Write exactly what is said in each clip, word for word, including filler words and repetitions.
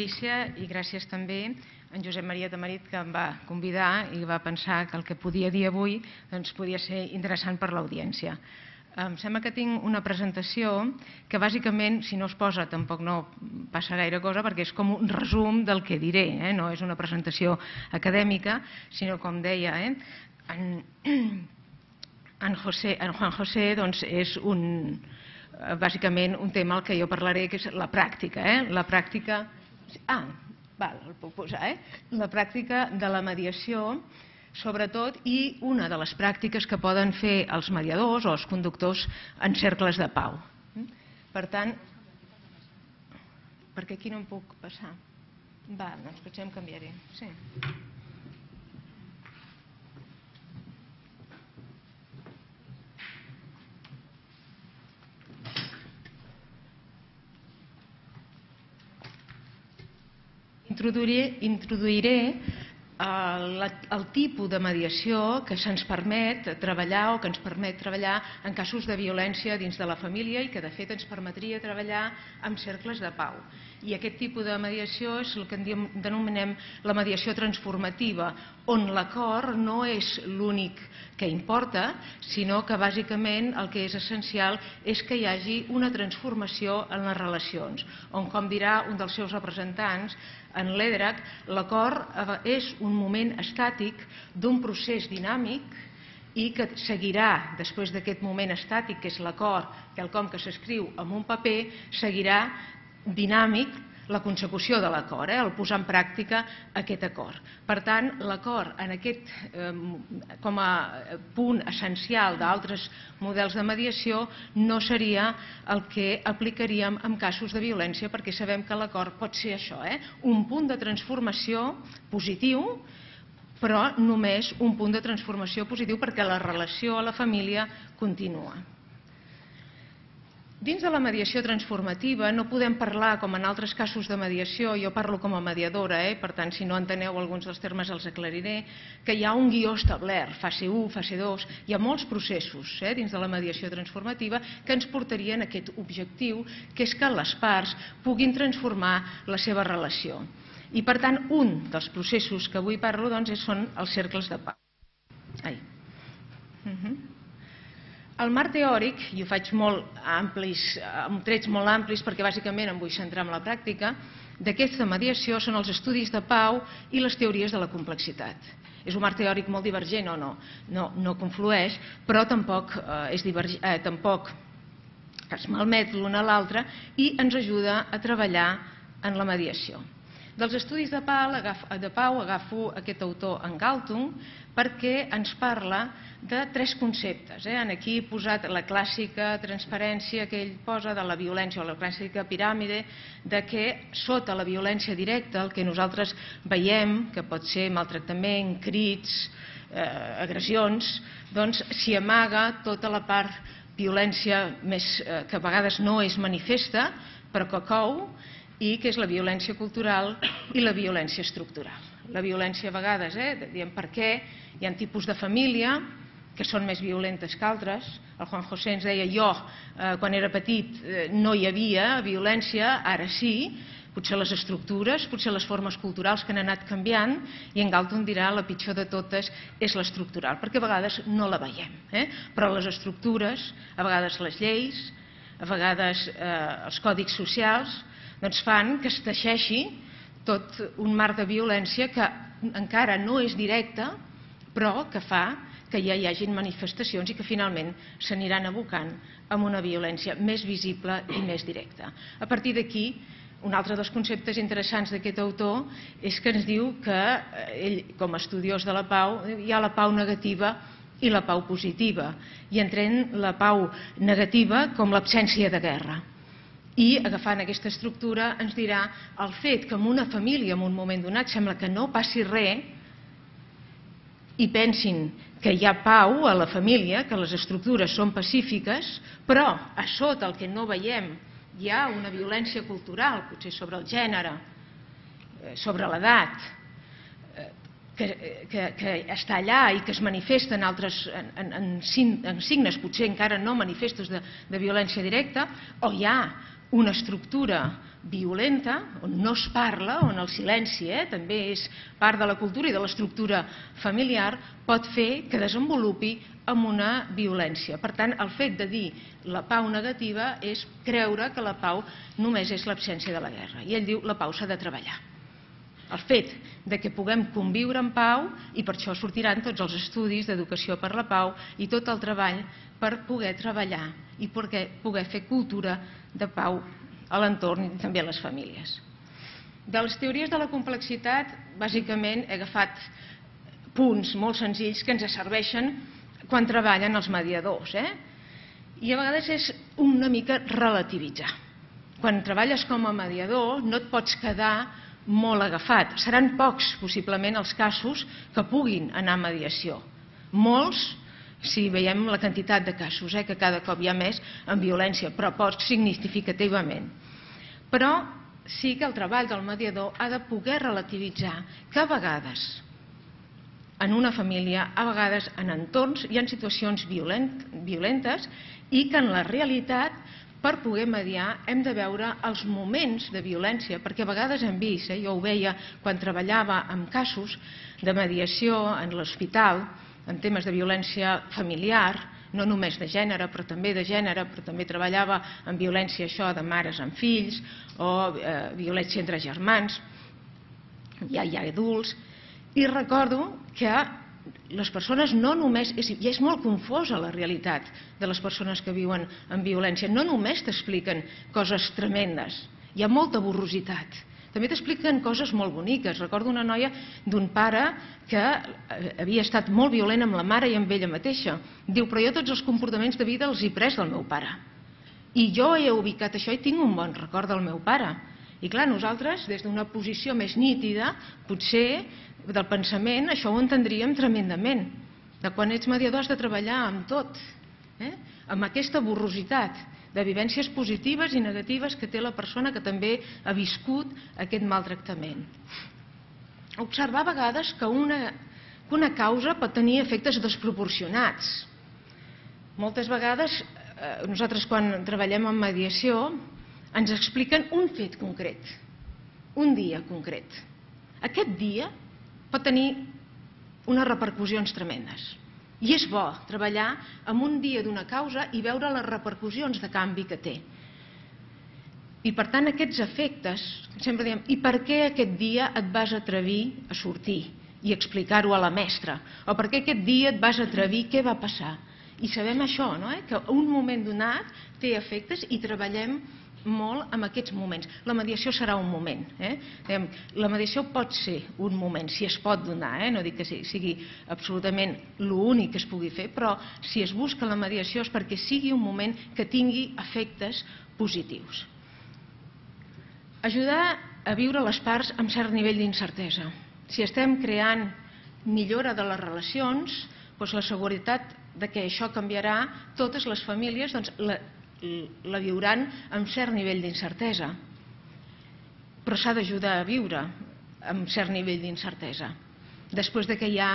Patrícia, i gràcies també a en Josep Maria Tamarit, que em va convidar i va pensar que el que podia dir avui podia ser interessant per l'audiència. Em sembla que tinc una presentació que bàsicament, si no es posa, tampoc no passa gaire cosa, perquè és com un resum del que diré. No és una presentació acadèmica, sinó, com deia, en Juan José és bàsicament un tema al que jo parlaré, que és la pràctica. La pràctica... Ah, el puc posar, eh? La pràctica de la mediació, sobretot, i una de les pràctiques que poden fer els mediadors o els conductors en cercles de pau. Per tant, perquè aquí no em puc passar. Va, doncs potser em canviaré. Sí. Introduiré el tipus de mediació que se'ns permet treballar o que ens permet treballar en casos de violència dins de la família i que de fet ens permetria treballar en cercles de pau. I aquest tipus de mediació és el que denominem la mediació transformativa, on l'acord no és l'únic que importa, sinó que bàsicament el que és essencial és que hi hagi una transformació en les relacions, on, com dirà un dels seus representants, en l'E D R A C, l'acord és un moment estàtic d'un procés dinàmic i que seguirà, després d'aquest moment estàtic, que és l'acord, quelcom que s'escriu en un paper, seguirà dinàmic la consecució de l'acord, el posar en pràctica aquest acord. Per tant, l'acord, com a punt essencial d'altres models de mediació, no seria el que aplicaríem en casos de violència, perquè sabem que l'acord pot ser això, un punt de transformació positiu, però només un punt de transformació positiu perquè la relació a la família continua. Dins de la mediació transformativa no podem parlar, com en altres casos de mediació, jo parlo com a mediadora, per tant, si no enteneu alguns dels termes els aclariré, que hi ha un guió establert, fase u, fase dos, hi ha molts processos dins de la mediació transformativa que ens portarien a aquest objectiu, que és que les parts puguin transformar la seva relació. I, per tant, un dels processos que avui parlo són els cercles de pau. Ai. El marc teòric, i ho faig molt amplis, amb trets molt amplis, perquè bàsicament em vull centrar en la pràctica, d'aquesta mediació són els estudis de pau i les teories de la complexitat. És un marc teòric molt divergent o no? No conflueix, però tampoc es malmet l'un a l'altre i ens ajuda a treballar en la mediació. Dels estudis de pau agafo aquest autor, en Galtung, perquè ens parla de tres conceptes. Aquí he posat la clàssica transparència que ell posa de la violència o la clàssica piràmide, de que sota la violència directa, el que nosaltres veiem, que pot ser maltractament, crits, agressions, doncs s'hi amaga tota la part violència que a vegades no és manifesta, però que cou, i que és la violència cultural i la violència estructural. La violència a vegades, diem per què, hi ha tipus de família que són més violentes que altres. El Juan José ens deia, jo, quan era petit, no hi havia violència, ara sí, potser les estructures, potser les formes culturals que han anat canviant, i en Galtung dirà la pitjor de totes és l'estructural, perquè a vegades no la veiem. Però les estructures, a vegades les lleis, a vegades els còdics socials, doncs fan que es teixeixi tot un marc de violència que encara no és directe, però que fa que ja hi hagin manifestacions i que finalment s'aniran abocant amb una violència més visible i més directa. A partir d'aquí, un altre dels conceptes interessants d'aquest autor és que ens diu que ell, com a estudiós de la pau, hi ha la pau negativa i la pau positiva, i entren la pau negativa com l'absència de guerra. I, agafant aquesta estructura, ens dirà el fet que en una família, en un moment donat, sembla que no passi res i pensin que hi ha pau a la família, que les estructures són pacífiques, però a sota el que no veiem hi ha una violència cultural, potser sobre el gènere, sobre l'edat, que està allà i que es manifesta en signes potser encara no manifestos de violència directa, o hi ha una estructura violenta, on no es parla, on el silenci eh, també és part de la cultura i de l'estructura familiar, pot fer que desenvolupi amb una violència. Per tant, el fet de dir la pau negativa és creure que la pau només és l'absència de la guerra. I ell diu la pau s'ha de treballar. El fet de que puguem conviure en pau, i per això sortiran tots els estudis d'educació per la pau i tot el treball per poder treballar i poder fer cultura de pau a l'entorn i també a les famílies. De les teories de la complexitat, bàsicament he agafat punts molt senzills que ens serveixen quan treballen els mediadors. Eh? I a vegades és una mica relativitzar. Quan treballes com a mediador no et pots quedar molt agafat. Seran pocs, possiblement, els casos que puguin anar a mediació. Molts, si veiem la quantitat de casos, eh, que cada cop hi ha més en violència, però pocs significativament. Però sí que el treball del mediador ha de poder relativitzar que a vegades en una família, a vegades en entorns hi ha situacions violentes i que en la realitat, per poder mediar, hem de veure els moments de violència, perquè a vegades hem vist, eh, jo ho veia quan treballava en casos de mediació en l'hospital, en temes de violència familiar, no només de gènere, però també de gènere, però també treballava en violència això de mares amb fills o eh, violència entre germans, ja hi ha adults, i recordo que les persones no només, i és molt confosa la realitat de les persones que viuen en violència, no només t'expliquen coses tremendes, hi ha molta borrositat. També t'expliquen coses molt boniques. Recordo una noia d'un pare que havia estat molt violent amb la mare i amb ella mateixa. Diu, però jo tots els comportaments de vida els he pres del meu pare. I jo he ubicat això i tinc un bon record del meu pare. I clar, nosaltres, des d'una posició més nítida, potser del pensament, això ho entendríem tremendament. De quan ets mediador has de treballar amb tot, eh? amb aquesta borrositat de vivències positives i negatives que té la persona que també ha viscut aquest maltractament. Observar a vegades que una, que una causa pot tenir efectes desproporcionats. Moltes vegades, eh, nosaltres quan treballem en mediació, ens expliquen un fet concret, un dia concret. Aquest dia pot tenir unes repercussions tremendes. I és bo treballar en un dia d'una causa i veure les repercussions de canvi que té. I per tant aquests efectes, sempre diem, i per què aquest dia et vas atrevir a sortir i explicar-ho a la mestra? O per què aquest dia et vas atrevir, què va passar? I sabem això, no? eh? que un moment donat té efectes i treballem molt en aquests moments. La mediació serà un moment. Eh? La mediació pot ser un moment, si es pot donar, eh? no dic que sigui absolutament l'únic que es pugui fer, però si es busca la mediació és perquè sigui un moment que tingui efectes positius. Ajudar a viure les parts amb cert nivell d'incertesa. Si estem creant millora de les relacions, doncs la seguretat de que això canviarà, totes les famílies doncs, la la viuran amb cert nivell d'incertesa. Però s'ha d'ajudar a viure amb cert nivell d'incertesa. Després de que hi ha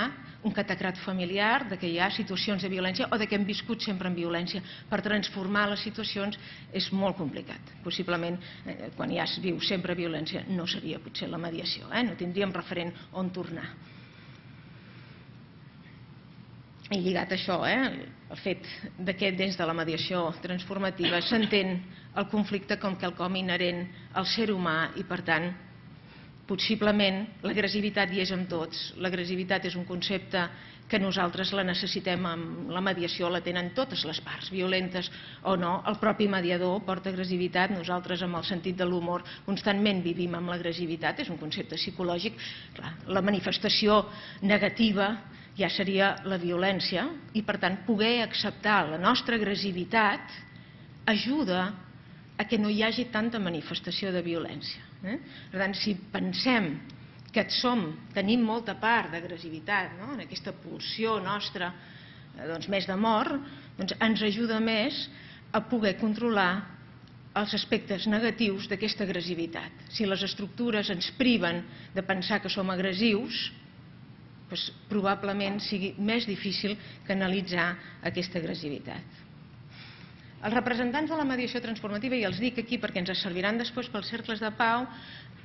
un catacrat familiar, de que hi ha situacions de violència o de que hem viscut sempre en violència. Per transformar les situacions és molt complicat. Possiblement, eh, quan ja es viu sempre violència, no seria potser la mediació, eh? no tindríem referent on tornar. I lligat a això, eh, el fet que des de la mediació transformativa s'entén el conflicte com quelcom inherent al ser humà i, per tant, possiblement l'agressivitat hi és amb tots. L'agressivitat és un concepte que nosaltres la necessitem amb la mediació, la tenen totes les parts, violentes o no. El propi mediador porta agressivitat, nosaltres amb el sentit de l'humor constantment vivim amb l'agressivitat, és un concepte psicològic. Clar, la manifestació negativa ja seria la violència i, per tant, poder acceptar la nostra agressivitat ajuda a que no hi hagi tanta manifestació de violència. Eh? Per tant, si pensem que som, tenim molta part d'agressivitat, no? en aquesta pulsió nostra doncs, més d'amor, doncs ens ajuda més a poder controlar els aspectes negatius d'aquesta agressivitat. Si les estructures ens priven de pensar que som agressius, doncs probablement sigui més difícil canalitzar aquesta agressivitat. Els representants de la mediació transformativa, i els dic aquí perquè ens serviran després pels cercles de pau,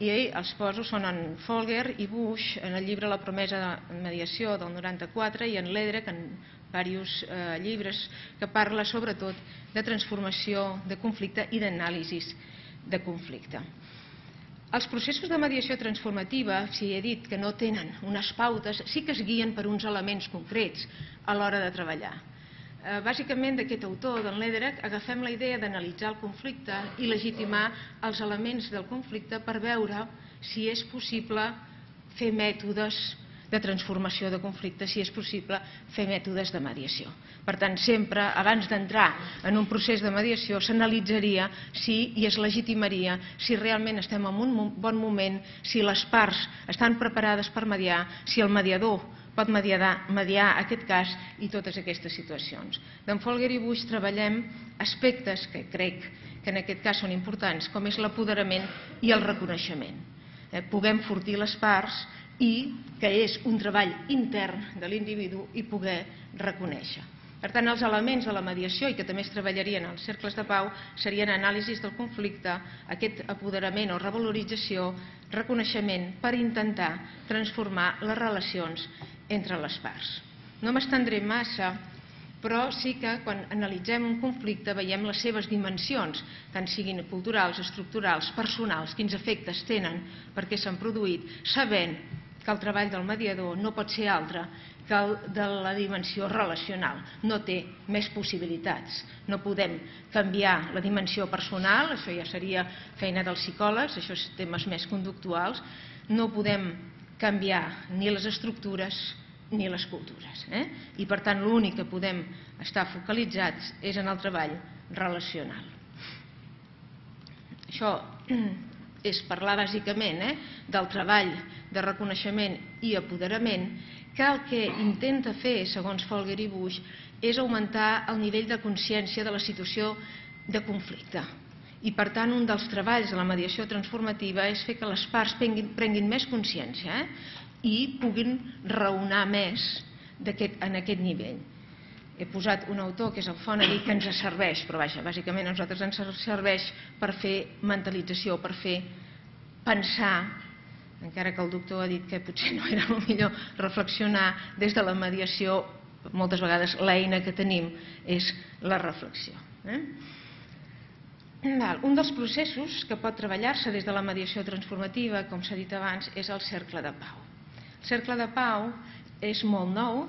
i els poso, són en Folger i Bush, en el llibre La promesa de mediació del noranta-quatre, i en Ledrek, en diversos eh, llibres, que parla sobretot de transformació de conflicte i d'anàlisi de conflicte. Els processos de mediació transformativa, si he dit que no tenen unes pautes, sí que es guien per uns elements concrets a l'hora de treballar. Bàsicament, d'aquest autor, d'en Ledrek, agafem la idea d'analitzar el conflicte i legitimar els elements del conflicte per veure si és possible fer mètodes de transformació de conflicte, si és possible fer mètodes de mediació. Per tant, sempre, abans d'entrar en un procés de mediació, s'analitzaria si i es legitimaria si realment estem en un bon moment, si les parts estan preparades per mediar, si el mediador pot mediar, mediar aquest cas i totes aquestes situacions. D'en Folger i Bush treballem aspectes que crec que en aquest cas són importants, com és l'apoderament i el reconeixement. Eh, puguem fortir les parts i que és un treball intern de l'individu i poder reconèixer. Per tant, els elements de la mediació, i que també es treballarien als cercles de pau, serien anàlisis del conflicte, aquest apoderament o revalorització, reconeixement per intentar transformar les relacions entre les parts. No m'estendré massa, però sí que quan analitzem un conflicte veiem les seves dimensions, tant siguin culturals, estructurals, personals, quins efectes tenen, per què s'han produït, sabent que el treball del mediador no pot ser altre que el de la dimensió relacional. No té més possibilitats. No podem canviar la dimensió personal, això ja seria feina dels psicòlegs, això són temes més conductuals. No podem canviar ni les estructures ni les cultures. Eh? I per tant l'únic que podem estar focalitzats és en el treball relacional. Això és parlar bàsicament eh, del treball de reconeixement i apoderament, que el que intenta fer, segons Folger i Bush, és augmentar el nivell de consciència de la situació de conflicte. I per tant un dels treballs de la mediació transformativa és fer que les parts prenguin, prenguin més consciència eh, i puguin raonar més en aquest nivell. He posat un autor que és el Fonagy, que ens serveix, però vaja, bàsicament a nosaltres ens serveix per fer mentalització, per fer pensar, encara que el doctor ha dit que potser no era el millor reflexionar des de la mediació, moltes vegades l'eina que tenim és la reflexió. Eh? Un dels processos que pot treballar-se des de la mediació transformativa, com s'ha dit abans, és el cercle de pau. El cercle de pau és molt nou,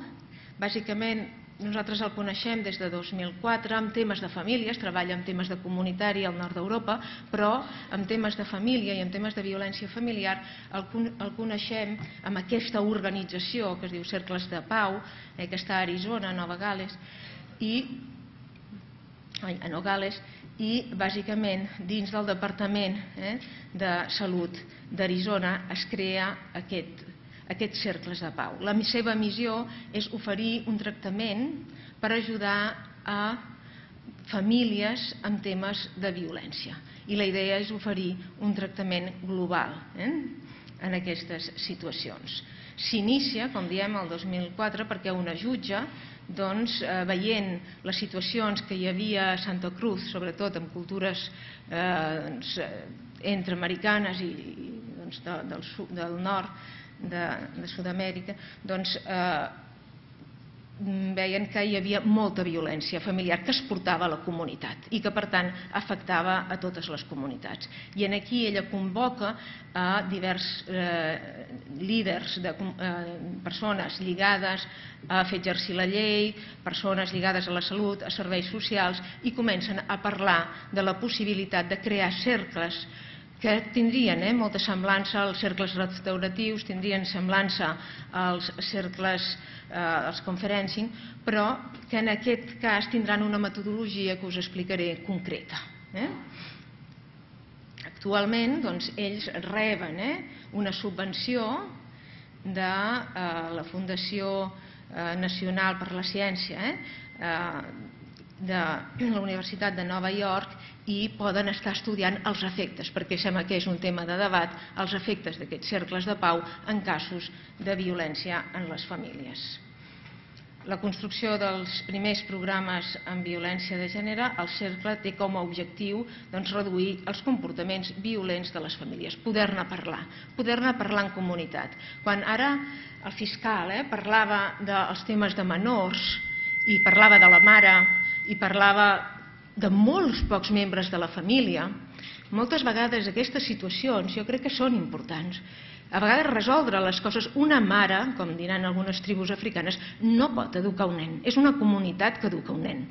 bàsicament nosaltres el coneixem des de dos mil quatre amb temes de famílies, treballa amb temes de comunitari al nord d'Europa, però amb temes de família i amb temes de violència familiar el coneixem amb aquesta organització que es diu Cercles de Pau, eh, que està a Arizona, a Nova Gal·les, i, ai, a Nova Gal·les, i bàsicament dins del Departament eh, de Salut d'Arizona es crea aquest aquests cercles de pau. La seva missió és oferir un tractament per ajudar a famílies amb temes de violència. I la idea és oferir un tractament global eh, en aquestes situacions. S'inicia, com diem, el dos mil quatre perquè una jutge, doncs, eh, veient les situacions que hi havia a Santa Cruz, sobretot en cultures eh, doncs, entre americanes i, i doncs, de, del, del nord, de, de Sud-amèrica, doncs eh, veien que hi havia molta violència familiar que es portava a la comunitat i que per tant afectava a totes les comunitats. I en aquí ella convoca a diversos eh, líders de eh, persones lligades a fer exercir la llei, persones lligades a la salut, a serveis socials, i comencen a parlar de la possibilitat de crear cercles que tindrien eh, molta semblança als cercles restauratius, tindrien semblança als cercles, eh, als conferencing, però que en aquest cas tindran una metodologia que us explicaré concreta. Eh? Actualment, doncs, ells reben eh, una subvenció de eh, la Fundació eh, Nacional per la Ciència, eh, eh, de la Universitat de Nova York, i poden estar estudiant els efectes, perquè sembla que és un tema de debat, els efectes d'aquests cercles de pau en casos de violència en les famílies. la construcció dels primers programes en violència de gènere, el cercle té com a objectiu doncs, reduir els comportaments violents de les famílies, poder-ne parlar, poder-ne parlar en comunitat. Quan ara el fiscal eh, parlava dels temes de menors i parlava de la mare i parlava de molts pocs membres de la família, moltes vegades aquestes situacions jo crec que són importants. A vegades resoldre les coses, una mare, com diran algunes tribus africanes, no pot educar un nen, és una comunitat que educa un nen.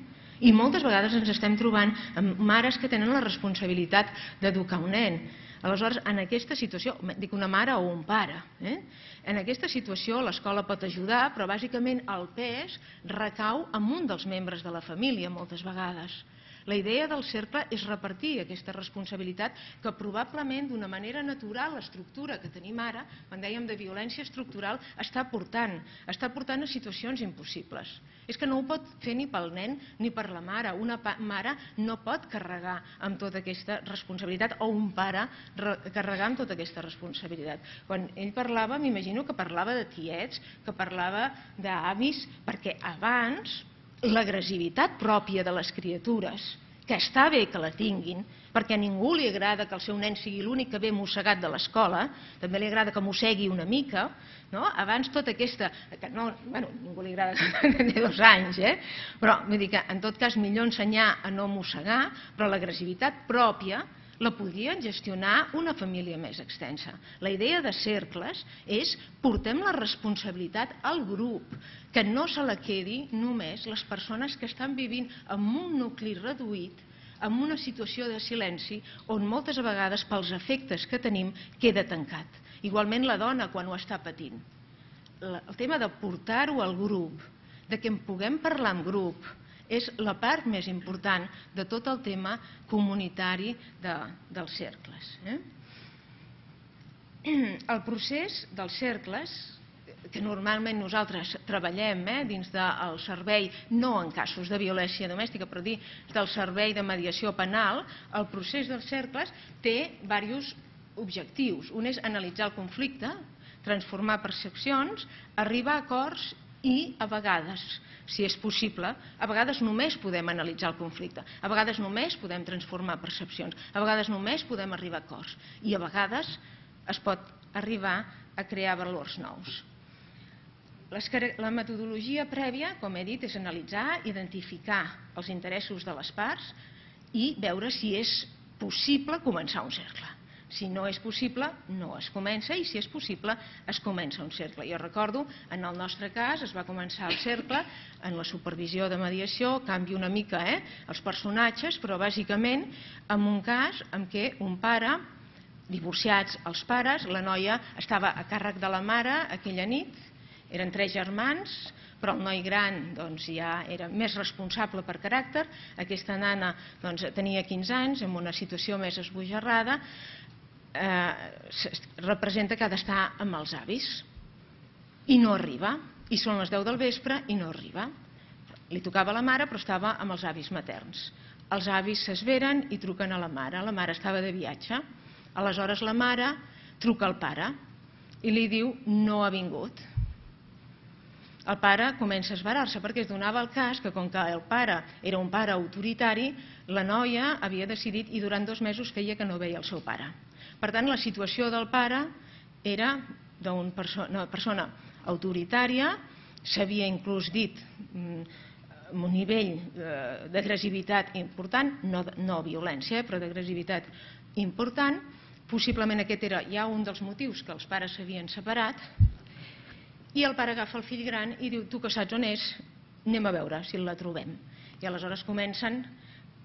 I moltes vegades ens estem trobant amb mares que tenen la responsabilitat d'educar un nen. Aleshores, en aquesta situació, dic una mare o un pare, eh? en aquesta situació l'escola pot ajudar, però bàsicament el pes recau en un dels membres de la família moltes vegades. La idea del cercle és repartir aquesta responsabilitat que probablement d'una manera natural l'estructura que tenim ara, quan dèiem de violència estructural, està portant, està portant a situacions impossibles. És que no ho pot fer ni pel nen ni per la mare. Una mare no pot carregar amb tota aquesta responsabilitat o un pare carregar amb tota aquesta responsabilitat. Quan ell parlava, m'imagino que parlava de tiets, que parlava d'avis, perquè abans l'agressivitat pròpia de les criatures, que està bé que la tinguin, perquè a ningú li agrada que el seu nen sigui l'únic que ve mossegat de l'escola, també li agrada que mossegui una mica, no? Abans tota aquesta... Que no, bueno, ningú li agrada que té dos anys, eh? Però vull dir que en tot cas millor ensenyar a no mossegar, però l'agressivitat pròpia la podrien gestionar una família més extensa. La idea de cercles és portem la responsabilitat al grup, que no se la quedi només les persones que estan vivint en un nucli reduït, en una situació de silenci on moltes vegades pels efectes que tenim queda tancat. Igualment la dona quan ho està patint. El tema de portar-ho al grup, de que en puguem parlar en grup, és la part més important de tot el tema comunitari de, dels cercles. Eh? El procés dels cercles, que normalment nosaltres treballem eh, dins del servei, no en casos de violència domèstica, però dins del servei de mediació penal, el procés dels cercles té diversos objectius. Un és analitzar el conflicte, transformar percepcions, arribar a acords i, a vegades, si és possible, a vegades només podem analitzar el conflicte, a vegades només podem transformar percepcions, a vegades només podem arribar a acords i a vegades es pot arribar a crear valors nous. La metodologia prèvia, com he dit, és analitzar, identificar els interessos de les parts i veure si és possible començar un cercle. Si no és possible, no es comença, i si és possible, es comença un cercle. Jo recordo, en el nostre cas, es va començar el cercle en la supervisió de mediació, canvia una mica eh, els personatges, però bàsicament en un cas en què un pare, divorciats els pares, la noia estava a càrrec de la mare aquella nit, eren tres germans, però el noi gran doncs, ja era més responsable per caràcter, aquesta nana doncs, tenia quinze anys, en una situació més esbojarrada, Eh, representa que ha d'estar amb els avis i no arriba, i són les deu del vespre i no arriba. Li tocava a la mare però estava amb els avis materns. Els avis s'esveren i truquen a la mare, la mare estava de viatge, aleshores la mare truca al pare i li diu no ha vingut. El pare comença a esverar-se perquè es donava el cas que com que el pare era un pare autoritari, la noia havia decidit i durant dos mesos feia que no veia el seu pare. Per tant, la situació del pare era d'una persona autoritària, s'havia inclús dit amb un nivell d'agressivitat important, no violència, però d'agressivitat important. Possiblement aquest era ja un dels motius que els pares s'havien separat, i el pare agafa el fill gran i diu, tu que saps on és, anem a veure si la trobem. I aleshores comencen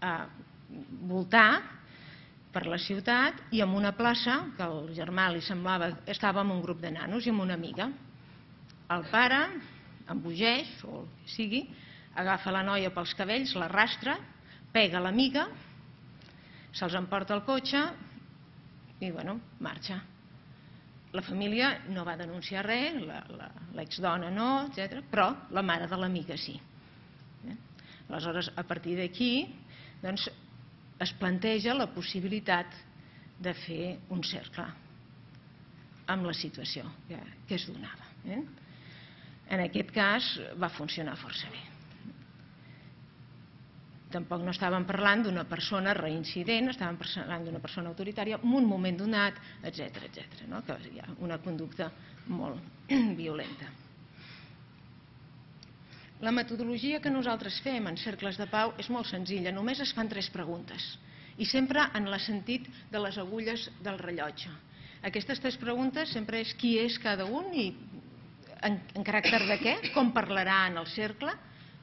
a voltar per la ciutat i en una plaça, que al germà li semblava, estava amb un grup de nanos i amb una amiga. El pare embogeix, o el que sigui, agafa la noia pels cabells, l'arrastra, pega l'amiga, se'ls emporta al cotxe i, bueno, marxa. La família no va denunciar res, l'exdona no, etcètera, però la mare de l'amiga sí. Aleshores, a partir d'aquí, doncs, es planteja la possibilitat de fer un cercle amb la situació que es donava. En aquest cas va funcionar força bé. Tampoc no estàvem parlant d'una persona reincident, estàvem parlant d'una persona autoritària en un moment donat, etcètera, etcètera, no? Que hi ha una conducta molt violenta. La metodologia que nosaltres fem en cercles de pau és molt senzilla, només es fan tres preguntes i sempre en el sentit de les agulles del rellotge. Aquestes tres preguntes sempre és qui és cada un i en, en caràcter de què, com parlarà en el cercle,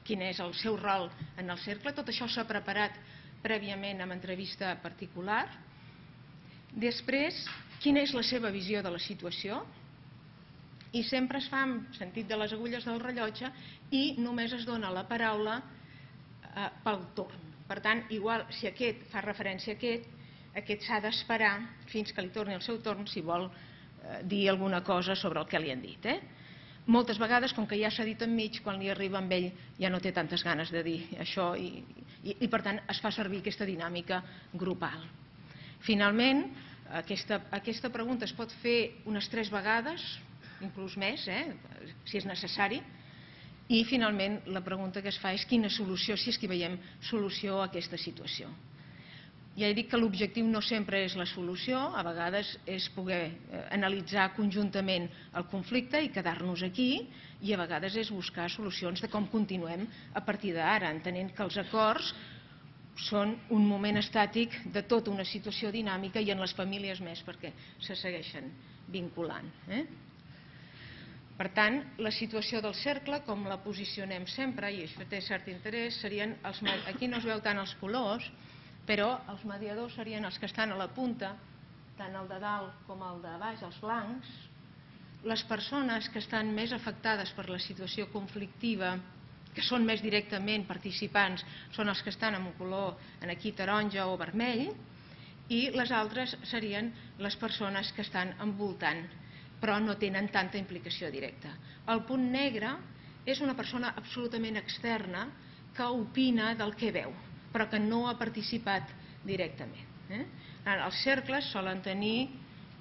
quin és el seu rol en el cercle. Tot això s'ha preparat prèviament amb entrevista particular. Després, quina és la seva visió de la situació, i sempre es fa en sentit de les agulles del rellotge i només es dona la paraula eh, pel torn. Per tant, igual si aquest fa referència a aquest, aquest s'ha d'esperar fins que li torni el seu torn si vol eh, dir alguna cosa sobre el que li han dit. Eh? Moltes vegades, com que ja s'ha dit enmig, quan li arriba amb ell ja no té tantes ganes de dir això i, i, i per tant es fa servir aquesta dinàmica grupal. Finalment, aquesta, aquesta pregunta es pot fer unes tres vegades, inclús més, eh, si és necessari, i finalment la pregunta que es fa és quina solució, si és que veiem solució a aquesta situació. Ja he dit que l'objectiu no sempre és la solució, a vegades és poder analitzar conjuntament el conflicte i quedar-nos aquí, i a vegades és buscar solucions de com continuem a partir d'ara, entenent que els acords són un moment estàtic de tota una situació dinàmica i en les famílies més perquè se segueixen vinculant. Eh? Per tant, la situació del cercle, com la posicionem sempre, i això té cert interès, serien, els, aquí no es veu tant els colors, però els mediadors serien els que estan a la punta, tant el de dalt com el de baix, els blancs. Les persones que estan més afectades per la situació conflictiva, que són més directament participants, són els que estan amb un color en aquí taronja o vermell, i les altres serien les persones que estan envoltant, però no tenen tanta implicació directa. El punt negre és una persona absolutament externa que opina del que veu, però que no ha participat directament. Eh? Els cercles solen tenir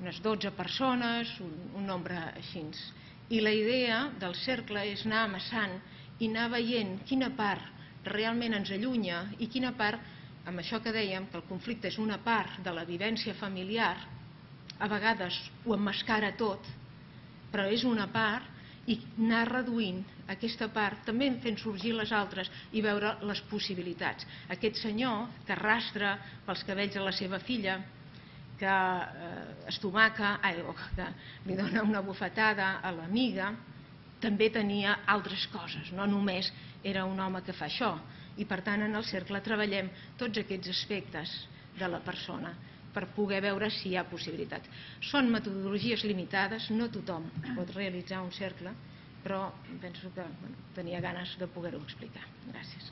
unes dotze persones, un, un nombre així. I la idea del cercle és anar amassant i anar veient quina part realment ens allunya i quina part, amb això que dèiem, que el conflicte és una part de la vivència familiar, a vegades ho emmascara tot, però és una part, i anar reduint aquesta part, també fent sorgir les altres i veure les possibilitats. Aquest senyor que arrastra pels cabells a la seva filla, que eh, estomaca, ai, que li dona una bufetada a l'amiga, també tenia altres coses, no només era un home que fa això. I per tant en el cercle treballem tots aquests aspectes de la persona per poder veure si hi ha possibilitats. Són metodologies limitades, no tothom pot realitzar un cercle, però penso que bueno, tenia ganes de poder-ho explicar. Gràcies.